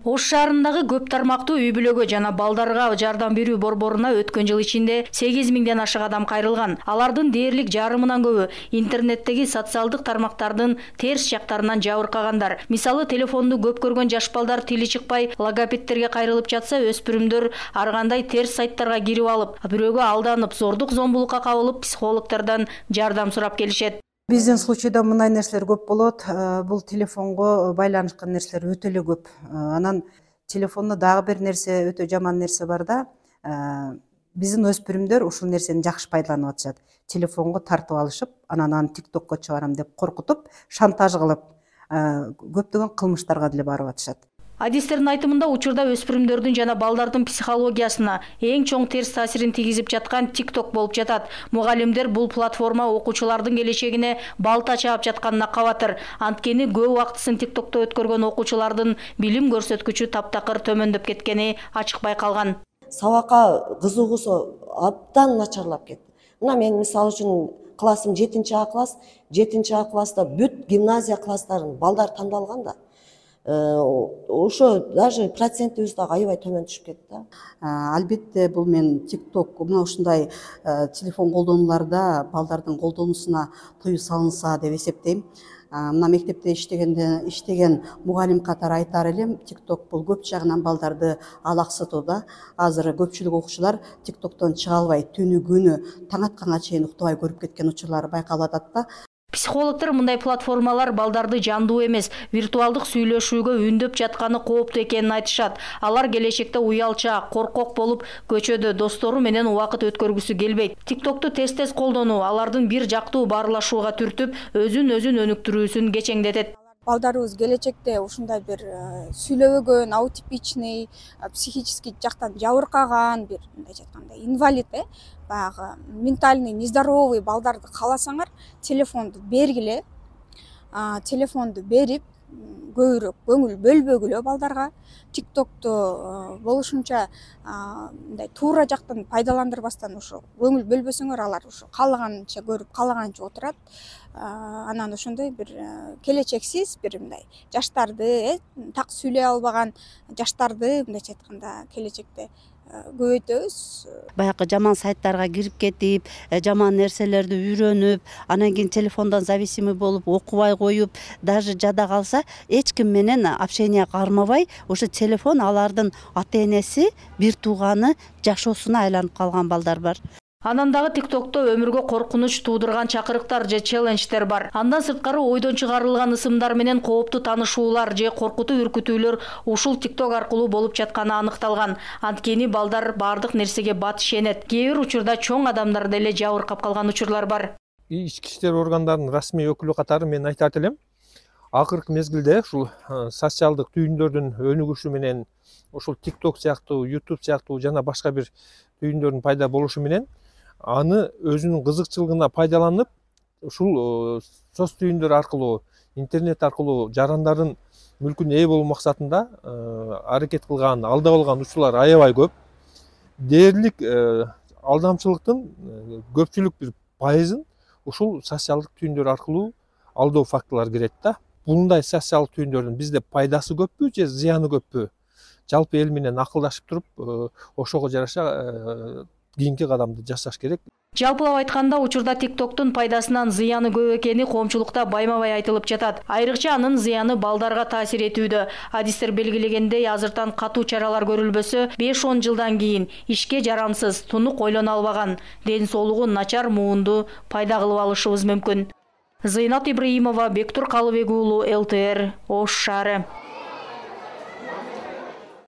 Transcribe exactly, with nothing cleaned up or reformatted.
Ош шаарындагы көп тармактуу үй бүлөгө жана балдарга жардам берүү борборуна өткөн жыл ичинде сегиз миңден ашык адам кайрылган. Алардын дээрлик жарымынан көбү интернеттеги социалдык тармактардын терс жактарынан жабыркагандар. Мисалы, телефонду көп көргөн жаш балдар тили чыкпай логопедтерге кайрылып жатса, өспүрүмдөр ар кандай терс сайттарга кирип алып, бирөөгө алданып, зордук зомбулукка кабылып, психологдордон жардам сурап келишет. Биздин случайда мындай нерселер көп болот. Бул телефонго байланышкан нерселер өтө эле көп. Анан телефондо дагы бир нерсе, өтө жаман нерсе бар да. Биздин өспүрүмдөр ушул нерсени жакшы пайдаланып атышат. Телефонго тартып алышып, анан аны тиктокко чыгарам деп коркутуп, шантаж кылып, көптөгөн кылмыштарга деле барып атышат. Адистердин айтымында учурда өспүрүмдөрдүн жана балдардын психологиясына эң чоң терс таасирин тийгизип жаткан TikTok болуп жатат. Мугалимдер бул платформа окуучулардын келечегине балта чаап жатканына кабатыр. Анткени көп убактысын TikTokто өткөргөн окуучулардын билим көрсөткүчү таптакыр төмөндөп кеткени ачык байкалган. Сабакка кызыгуусу абдан начарлап кетти. Мына мен мисалы үчүн классым жетинчи А класс, жетинчи А класста бүт гимназия класстарын балдар тандалган да. Ошо даже процентибиз дагы аябай төмөн түшүп кетти. Албетте бул мен TikTok мына ушундай телефон колдонууларда балдардын колдонуусуна тыюу салынса деп эсептейм. Мына мектепте иштегенде иштеген мугалим катары айтар элем, TikTok бул көп жагынан балдарды алаксытууда. Азыр көпчүлүк окуучулар TikToктон чыга албай, түнү күнү таң атканга чейин уктабай көрүп кеткен учурлар байкалып атат да. Психологдор мындай платформалар балдарды жандуу эмес, виртуалдык сүйлөшүүгө үндөп жатканы кооптуу экенин айтышат. Алар келечекте уялчаак, коркок болуп, көчөдө достору менен убакыт өткөргүсү келбейт. TikToкту тез-тез колдонуу алардын бир жактуу баарлашууга түртүп, өзүн-өзүн өнүктүрүүсүн кечеңдетет. Балдарыбыз келечекте ушундай бир сүйлөбөгөн, аутипичный, психический жактан жабыркаган, бир мындай айтканда инвалид, э, баягы ментальный нездоровый балдарды кааласаңар, телефонду бергиле. Телефонду берип, көбүрөөк көңүл бөлбөгүлө балдарга. TikToкту болушунча мындай туура жактан пайдаландырбастан ушу көңүл бөлбөсөңөр, алар ушу каалаганча көрүп, каалаганча отурат. Анан ошондой бир келечексиз бир мындай жаштарды, так сүйлөй албаган жаштарды мындайча айтканда келечекте көбөйтөбүз. Баягы жаман сайттарга кирип кетип, жаман нерселерди үйрөнүп, анан кийин телефондон зависимый болуп, окубай коюп, даже жада калса, эч ким менен общение кармабай, ошо телефон алардын ата-энеси, бир тууганы, жашоосуна айланып калган балдар бар. Анан дагы TikTokто өмүргө коркунуч туудурган чакырыктар же челлендждер бар. Андан сырткары ойдон чыгарылган ысымдар менен кооптуу таанышуулар же коркутуу үркүтүүлөр ушул TikTok аркылуу болуп жатканы аныкталган. Анткени балдар бардык нерсеге бат ишенет. Кээ бир учурда чоң адамдар деле жабыркап калган учурлар бар. Ички иштер органдарынын расмий өкүлү катары мен айтат элем, акыркы мезгилде ушул социалдык түйүндөрдүн өнүгүшү менен ушул TikTok сыяктуу, YouTube сыяктуу жана башка бир түйүндөрдүн пайда болушу менен аны өзүнүн кызыкчылыгына пайдаланып, ушул соц түйүндөр аркылуу, интернет аркылуу жарандардын мүлкүнө ээ болуу максатында аракет кылган, алдап алган учурлар аябай көп. Дээрлик алдамчылыктын көпчүлүк бир пайызын ушул социалдык түйүндөр аркылуу алдоо фактылары кирет да. Мындай социалдык түйүндөрдүн бизде пайдасы көппү же зыяны көппү? Жалпы эл менен акылдашып туруп, ошого жараша кийинки кадамды жасаш керек. Жалпылап айтканда, учурда TikToктун пайдасынан зыяны көп экени коомчулукта байма-бай айтылып жатат. Айрыкча анын зыяны балдарга таасир этүүдө. Адистер белгилегендей, азыртан катуу чаралар көрүлбөсө, беш он жылдан кийин ишке жарамсыз, тунук ойлоно албаган, ден соолугу начар муунду пайда кылып алышыбыз мүмкүн. Зыйнат Ибраимова, Бектур Калыбек уулу, эл тэ эр, Ош шаары.